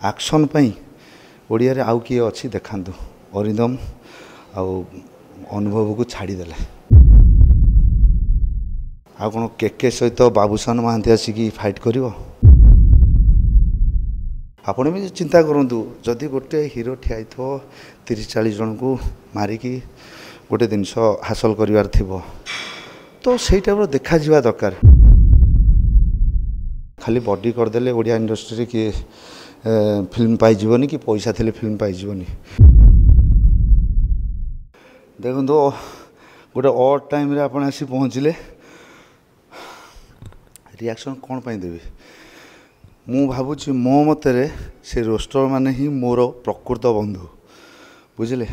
Action ପାଇଁ ଓଡ଼ିଆରେ ଆଉ କିଏ ଅଛି ଦେଖାନ୍ତୁ। ଅରିନ୍ଦମ ଆଉ ଅନୁଭବକୁ ଛାଡ଼ିଦେଲେ। ଆଉ କ'ଣ କେକେ ସହିତ ବାବୁସାନ ମହାନ୍ତି ଆସିକି ଫାଇଟ୍ କରିବ? ଆପଣ ବି ଚିନ୍ତା କରନ୍ତୁ, ଯଦି ଗୋଟେ ହିରୋ ଠିଆ ହେଇଥିବ 30-40 ଜଣଙ୍କୁ ମାରିକି ଗୋଟେ ଜିନିଷ ହାସଲ କରିବାର ଥିବ, ତ ସେଇ ଟାଇପ୍ର ଦେଖାଯିବା ଦରକାର। ଖାଲି ବଡି କରିଦେଲେ ଓଡ଼ିଆ ଇଣ୍ଡଷ୍ଟ୍ରିରେ କିଏ ଫିଲ୍ମ ପାଇଯିବନି, କି ପଇସା ଥିଲେ ଫିଲ୍ମ ପାଇଯିବନି। ଦେଖନ୍ତୁ, ଗୋଟେ ଅଡ୍ ଟାଇମ୍ରେ ଆପଣ ଆସି ପହଞ୍ଚିଲେ, ରିଆକ୍ସନ୍ କ'ଣ ପାଇଁ ଦେବି? ମୁଁ ଭାବୁଛି ମୋ ମତରେ ସେ ରୋଷ୍ଟର ମାନେ ହିଁ ମୋର ପ୍ରକୃତ ବନ୍ଧୁ, ବୁଝିଲେ?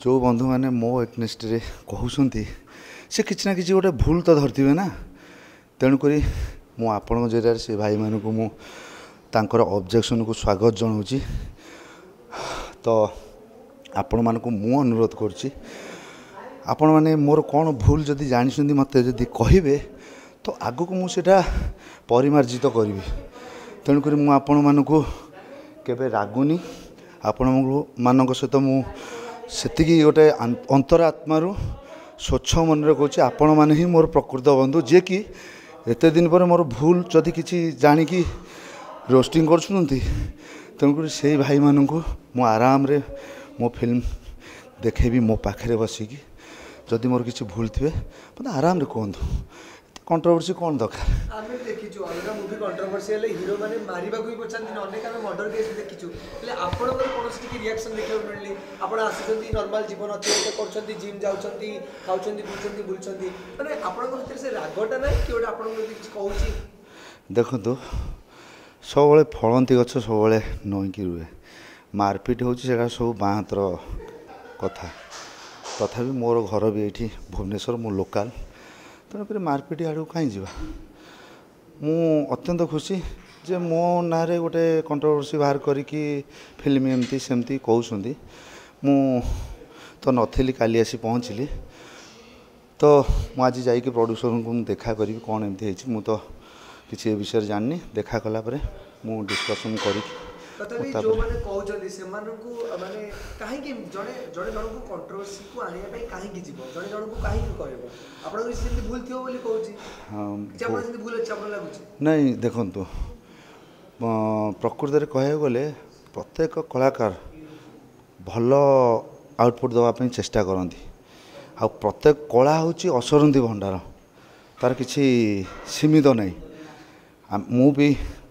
ଯେଉଁ ବନ୍ଧୁମାନେ ମୋ ଏଗନେଷ୍ଟରେ କହୁଛନ୍ତି, ସେ କିଛି ନା କିଛି ଗୋଟେ ଭୁଲ ତ ଧରିଥିବେ ନା। ତେଣୁକରି ମୁଁ ଆପଣଙ୍କ ଜରିଆରେ ସେ ଭାଇମାନଙ୍କୁ ମୁଁ ତାଙ୍କର ଅବଜେକ୍ସନକୁ ସ୍ୱାଗତ ଜଣାଉଛି। ତ ଆପଣମାନଙ୍କୁ ମୁଁ ଅନୁରୋଧ କରୁଛି, ଆପଣମାନେ ମୋର କ'ଣ ଭୁଲ ଯଦି ଜାଣିଛନ୍ତି ମୋତେ ଯଦି କହିବେ, ତ ଆଗକୁ ମୁଁ ସେଇଟା ପରିମାର୍ଜିତ କରିବି। ତେଣୁକରି ମୁଁ ଆପଣମାନଙ୍କୁ କେବେ ରାଗୁନି। ଆପଣମାନଙ୍କ ସହିତ ମୁଁ ସେତିକି ଗୋଟେ ଅନ୍ତରାତ୍ମାରୁ ସ୍ୱଚ୍ଛ ମନରେ କହୁଛି, ଆପଣମାନେ ହିଁ ମୋର ପ୍ରକୃତ ବନ୍ଧୁ, ଯିଏକି ଏତେ ଦିନ ପରେ ମୋର ଭୁଲ ଯଦି କିଛି ଜାଣିକି ରୋଷ୍ଟିଂ କରୁଛନ୍ତି। ତେଣୁକରି ସେଇ ଭାଇମାନଙ୍କୁ ମୁଁ ଆରାମରେ ମୋ ଫିଲ୍ମ ଦେଖେଇବି ମୋ ପାଖରେ ବସିକି। ଯଦି ମୋର କିଛି ଭୁଲ ଥିବେ, ମୋତେ ଆରାମରେ କୁହନ୍ତୁ। କଣ୍ଟ୍ରୋଭର୍ସି କ'ଣ ଦରକାର? ଆମେ ଦେଖିଛୁ, ଅଲଗା ମୁଭି କଣ୍ଟ୍ରୋଭର୍ସି ହେଲେ ହିରୋ ମାନେ ମାରିବାକୁ ବି ପଛାନ୍ତିନି। ଅନେକ ଆମେ ମର୍ଡର କେସ୍ ଦେଖିଛୁ। ହେଲେ ଆପଣଙ୍କର କୌଣସି ଟିକେ ରିଆକ୍ସନ୍ ଦେଖିବାକୁ ମିଳିନି। ଆପଣ ଆସୁଛନ୍ତି, ନର୍ମାଲ ଜୀବନ ଅତିବାହିତ କରୁଛନ୍ତି, ଜିମ୍ ଯାଉଛନ୍ତି, ଖାଉଛନ୍ତି, ପିଉଛନ୍ତି, ବୁଲୁଛନ୍ତି। ମାନେ ଆପଣଙ୍କ ଭିତରେ ସେ ରାଗଟା ନାହିଁ କି ଗୋଟେ ଆପଣଙ୍କୁ ଯଦି କିଛି କହୁଛି? ଦେଖନ୍ତୁ, ସବୁବେଳେ ଫଳନ୍ତି ଗଛ ସବୁବେଳେ ନଇଁକି ରୁହେ। ମାରପିଟ ହେଉଛି, ସେଇଟା ସବୁ ବାଁ ହାତର କଥା। ତଥାପି ମୋର ଘର ବି ଏଇଠି ଭୁବନେଶ୍ୱର, ମୁଁ ଲୋକାଲ। ତେଣୁକରି ମାରପିଟ ଆଡ଼କୁ କାହିଁ ଯିବା? ମୁଁ ଅତ୍ୟନ୍ତ ଖୁସି ଯେ ମୋ ନାଁରେ ଗୋଟେ କଣ୍ଟ୍ରୋଭର୍ସି ବାହାର କରିକି ଫିଲ୍ମ ଏମିତି ସେମିତି କହୁଛନ୍ତି। ମୁଁ ତ ନଥିଲି, କାଲି ଆସି ପହଞ୍ଚିଲି। ତ ମୁଁ ଆଜି ଯାଇକି ପ୍ରଡ୍ୟୁସରଙ୍କୁ ମୁଁ ଦେଖା କରିବି, କ'ଣ ଏମିତି ହେଇଛି। ମୁଁ ତ କିଛି ଏ ବିଷୟରେ ଜାଣିନି। ଦେଖା କଲା ପରେ ମୁଁ ଡିସ୍କସନ୍ କରିକି ତଥାପି ଯେଉଁମାନେ କହୁଛନ୍ତି ସେମାନଙ୍କୁ, ମାନେ କାହିଁକି ଜଣେ ଜଣେ ଜଣଙ୍କୁ କଣ୍ଟ୍ରୋଭର୍ସିକୁ ଆଣିବା ପାଇଁ କାହିଁକି ଯିବ? ଜଣେ ଜଣଙ୍କୁ କାହିଁକି କହିବ? ଆପଣଙ୍କର କିଛି ସେମିତି ଭୁଲ ଥିବ ବୋଲି କହୁଛି। କିଛି ଆପଣ ସେମିତି ଭୁଲ ଅଛି ଆପଣ ଲାଗୁଛି? ନାଇଁ, ଦେଖନ୍ତୁ, ପ୍ରକୃତରେ କହିବାକୁ ଗଲେ ପ୍ରତ୍ୟେକ କଳାକାର ଭଲ ଆଉଟପୁଟ୍ ଦେବା ପାଇଁ ଚେଷ୍ଟା କରନ୍ତି। ଆଉ ପ୍ରତ୍ୟେକ କଳା ହେଉଛି ଅସରନ୍ତି ଭଣ୍ଡାର, ତା'ର କିଛି ସୀମିତ ନାହିଁ। ମୁଁ ବି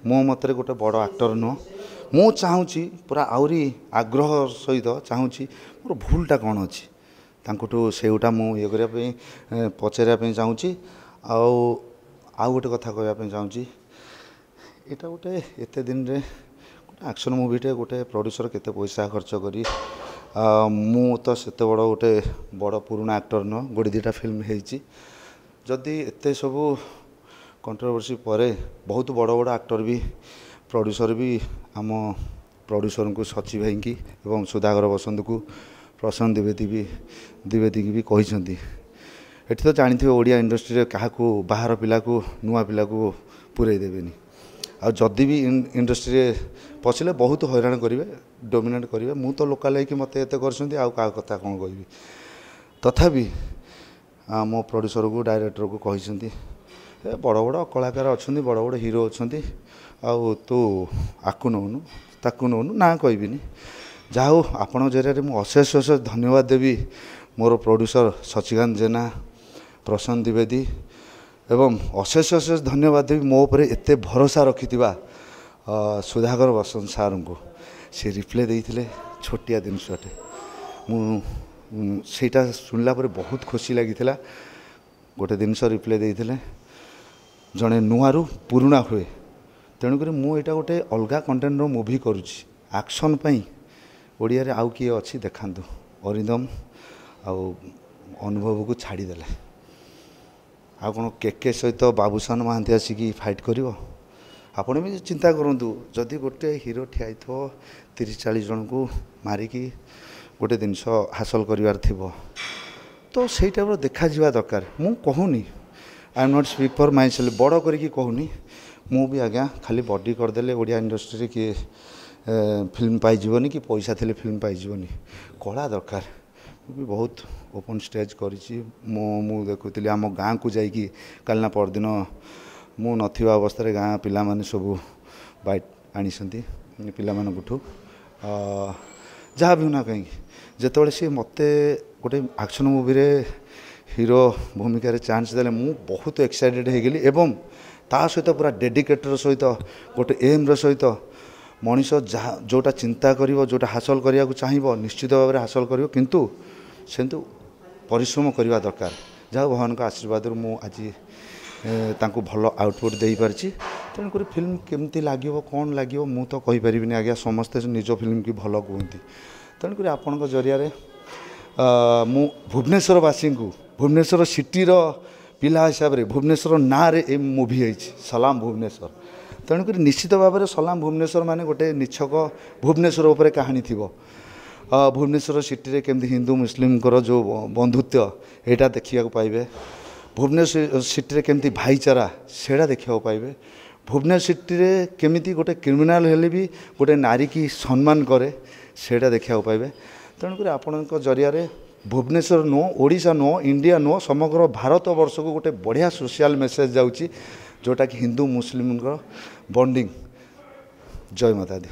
ମୋ ମତରେ ଗୋଟେ ବଡ଼ ଆକ୍ଟର ନୁହଁ। ମୁଁ ଚାହୁଁଛି, ପୁରା ଆହୁରି ଆଗ୍ରହ ସହିତ ଚାହୁଁଛି, ମୋର ଭୁଲଟା କ'ଣ ଅଛି ତାଙ୍କଠୁ ସେଇଟା ମୁଁ ଇଏ କରିବା ପାଇଁ, ପଚାରିବା ପାଇଁ ଚାହୁଁଛି। ଆଉ ଆଉ ଗୋଟେ କଥା କହିବା ପାଇଁ ଚାହୁଁଛି, ଏଇଟା ଗୋଟେ ଏତେ ଦିନରେ ଗୋଟେ ଆକ୍ସନ୍ ମୁଭିଟେ, ଗୋଟେ ପ୍ରଡ୍ୟୁସର କେତେ ପଇସା ଖର୍ଚ୍ଚ କରି। ମୁଁ ତ ସେତେ ବଡ଼ ଗୋଟେ ବଡ଼ ପୁରୁଣା ଆକ୍ଟର ନୁହଁ, ଗୋଟେ ଦୁଇଟା ଫିଲ୍ମ ହେଇଛି। ଯଦି ଏତେ ସବୁ କଣ୍ଟ୍ରୋଭର୍ସି ପରେ ବହୁତ ବଡ଼ ବଡ଼ ଆକ୍ଟର ବି, ପ୍ରଡ୍ୟୁସର ବି ଆମ ପ୍ରଡ୍ୟୁସରଙ୍କୁ, ସଚି ଭାଇଙ୍କି ଏବଂ ସୁଧାକର ବସନ୍ତକୁ, ପ୍ରଶାନ୍ତ ଦ୍ୱିବେଦୀ ବି, ଦ୍ୱିବେଦୀକି ବି କହିଛନ୍ତି। ଏଠି ତ ଜାଣିଥିବେ, ଓଡ଼ିଆ ଇଣ୍ଡଷ୍ଟ୍ରିରେ କାହାକୁ ବାହାର ପିଲାକୁ, ନୂଆ ପିଲାକୁ ପୁରେଇ ଦେବେନି। ଆଉ ଯଦି ବି ଇଣ୍ଡଷ୍ଟ୍ରିରେ ପଶିଲେ ବହୁତ ହଇରାଣ କରିବେ, ଡୋମିନେଟ୍ କରିବେ। ମୁଁ ତ ଲୋକାଲ୍ ହେଇକି ମୋତେ ଏତେ କରିଛନ୍ତି, ଆଉ କାହା କଥା କ'ଣ କହିବି? ତଥାପି ମୋ ପ୍ରଡ୍ୟୁସରକୁ, ଡାଇରେକ୍ଟରକୁ କହିଛନ୍ତି, ଏ ବଡ଼ ବଡ଼ କଳାକାର ଅଛନ୍ତି, ବଡ଼ ବଡ଼ ହିରୋ ଅଛନ୍ତି, ଆଉ ତୁ ଆକୁ ନେଉନୁ, ତାକୁ ନେଉନୁ, ନାଁ କହିବିନି। ଯାହା ହଉ, ଆପଣଙ୍କ ଜରିଆରେ ମୁଁ ଅଶେଷ ଅଶେଷ ଧନ୍ୟବାଦ ଦେବି ମୋର ପ୍ରଡ୍ୟୁସର ସଚିକାନ୍ତ ଜେନା, ପ୍ରଶାନ୍ତ ଦ୍ୱିବେଦୀ, ଏବଂ ଅଶେଷ ଅଶେଷ ଧନ୍ୟବାଦ ଦେବି ମୋ ଉପରେ ଏତେ ଭରସା ରଖିଥିବା ସୁଧାକର ବସନ୍ତ ସାର୍ଙ୍କୁ। ସେ ରିପ୍ଲାଏ ଦେଇଥିଲେ ଛୋଟିଆ ଜିନିଷଟେ, ମୁଁ ସେଇଟା ଶୁଣିଲା ପରେ ବହୁତ ଖୁସି ଲାଗିଥିଲା। ଗୋଟେ ଜିନିଷ ରିପ୍ଲାଏ ଦେଇଥିଲେ, ଜଣେ ନୂଆରୁ ପୁରୁଣା ହୁଏ। ତେଣୁକରି ମୁଁ ଏଇଟା ଗୋଟେ ଅଲଗା କଣ୍ଟେଣ୍ଟର ମୁଭି କରୁଛି। ଆକ୍ସନ୍ ପାଇଁ ଓଡ଼ିଆରେ ଆଉ କିଏ ଅଛି ଦେଖାନ୍ତୁ। ଅରିନ୍ଦମ ଆଉ ଅନୁଭବକୁ ଛାଡ଼ିଦେଲେ। ଆଉ କ'ଣ କେକେ ସହିତ ବାବୁସାନ ମହାନ୍ତି ଆସିକି ଫାଇଟ୍ କରିବ? ଆପଣ ବି ଚିନ୍ତା କରନ୍ତୁ, ଯଦି ଗୋଟେ ହିରୋ ଠିଆ ହେଇଥିବ 30-40 ଜଣଙ୍କୁ ମାରିକି ଗୋଟେ ଜିନିଷ ହାସଲ କରିବାର ଥିବ, ତ ସେଇ ଟାଇପ୍ର ଦେଖାଯିବା ଦରକାର। ମୁଁ କହୁନି, I am not speak for myself, ବଡ଼ କରିକି କହୁନି। ମୁଁ ବି ଆଜ୍ଞା ଖାଲି ବଡି କରିଦେଲେ ଓଡ଼ିଆ ଇଣ୍ଡଷ୍ଟ୍ରିରେ କିଏ ଫିଲ୍ମ ପାଇଯିବନି କି ପଇସା ଥିଲେ ଫିଲ୍ମ ପାଇଯିବନି, କଳା ଦରକାର। ମୁଁ ବି ବହୁତ ଓପନ୍ ଷ୍ଟେଜ୍ କରିଛି। ମୁଁ ଦେଖୁଥିଲି ଆମ ଗାଁକୁ ଯାଇକି କାଲି ନା ପରଦିନ ମୁଁ ନଥିବା ଅବସ୍ଥାରେ ଗାଁ ପିଲାମାନେ ସବୁ ବାଇଟ୍ ଆଣିଛନ୍ତି ପିଲାମାନଙ୍କଠୁ। ଯାହା ବି ନା କାହିଁକି, ଯେତେବେଳେ ସିଏ ମୋତେ ଗୋଟେ ଆକ୍ସନ୍ ମୁଭିରେ ହିରୋ ଭୂମିକାରେ ଚାନ୍ସ ଦେଲେ, ମୁଁ ବହୁତ ଏକ୍ସାଇଟେଡ଼ ହେଇଗଲି ଏବଂ ତା ସହିତ ପୁରା ଡେଡିକେଟର ସହିତ ଗୋଟେ ଏମ୍ର ସହିତ ମଣିଷ ଯାହା ଯେଉଁଟା ଚିନ୍ତା କରିବ, ଯେଉଁଟା ହାସଲ କରିବାକୁ ଚାହିଁବ, ନିଶ୍ଚିତ ଭାବରେ ହାସଲ କରିବ, କିନ୍ତୁ ସେମିତି ପରିଶ୍ରମ କରିବା ଦରକାର। ଯାହା ଭଗବାନଙ୍କ ଆଶୀର୍ବାଦରୁ ମୁଁ ଆଜି ତାଙ୍କୁ ଭଲ ଆଉଟପୁଟ୍ ଦେଇପାରିଛି। ତେଣୁକରି ଫିଲ୍ମ କେମିତି ଲାଗିବ, କ'ଣ ଲାଗିବ, ମୁଁ ତ କହିପାରିବିନି ଆଜ୍ଞା। ସମସ୍ତେ ନିଜ ଫିଲ୍ମକି ଭଲ କୁହନ୍ତି। ତେଣୁକରି ଆପଣଙ୍କ ଜରିଆରେ ମୁଁ ଭୁବନେଶ୍ୱରବାସୀଙ୍କୁ, ଭୁବନେଶ୍ୱର ସିଟିର ପିଲା ହିସାବରେ, ଭୁବନେଶ୍ୱର ନାଁରେ ଏ ମୁଭି ହେଇଛି ସଲାମ ଭୁବନେଶ୍ୱର। ତେଣୁକରି ନିଶ୍ଚିତ ଭାବରେ ସଲାମ ଭୁବନେଶ୍ୱର ମାନେ ଗୋଟେ ନିଛକ ଭୁବନେଶ୍ୱର ଉପରେ କାହାଣୀ ଥିବ। ଭୁବନେଶ୍ୱର ସିଟିରେ କେମିତି ହିନ୍ଦୁ ମୁସଲିମଙ୍କର ଯେଉଁ ବନ୍ଧୁତ୍ୱ, ଏଇଟା ଦେଖିବାକୁ ପାଇବେ। ଭୁବନେଶ୍ୱର ସିଟିରେ କେମିତି ଭାଇଚାରା, ସେଇଟା ଦେଖିବାକୁ ପାଇବେ। ଭୁବନେଶ୍ୱର ସିଟିରେ କେମିତି ଗୋଟେ କ୍ରିମିନାଲ ହେଲେ ବି ଗୋଟେ ନାରୀକି ସମ୍ମାନ କରେ, ସେଇଟା ଦେଖିବାକୁ ପାଇବେ। ତେଣୁକରି ଆପଣଙ୍କ ଜରିଆରେ ଭୁବନେଶ୍ୱର ନୁହଁ, ଓଡ଼ିଶା ନୁହଁ, ଇଣ୍ଡିଆ ନୁହଁ, ସମଗ୍ର ଭାରତବର୍ଷକୁ ଗୋଟେ ବଢ଼ିଆ ସୋସିଆଲ ମେସେଜ ଯାଉଛି, ଯେଉଁଟାକି ହିନ୍ଦୁ ମୁସଲିମଙ୍କର ବଣ୍ଡିଙ୍ଗ। ଜୟ ମାତା ଦି।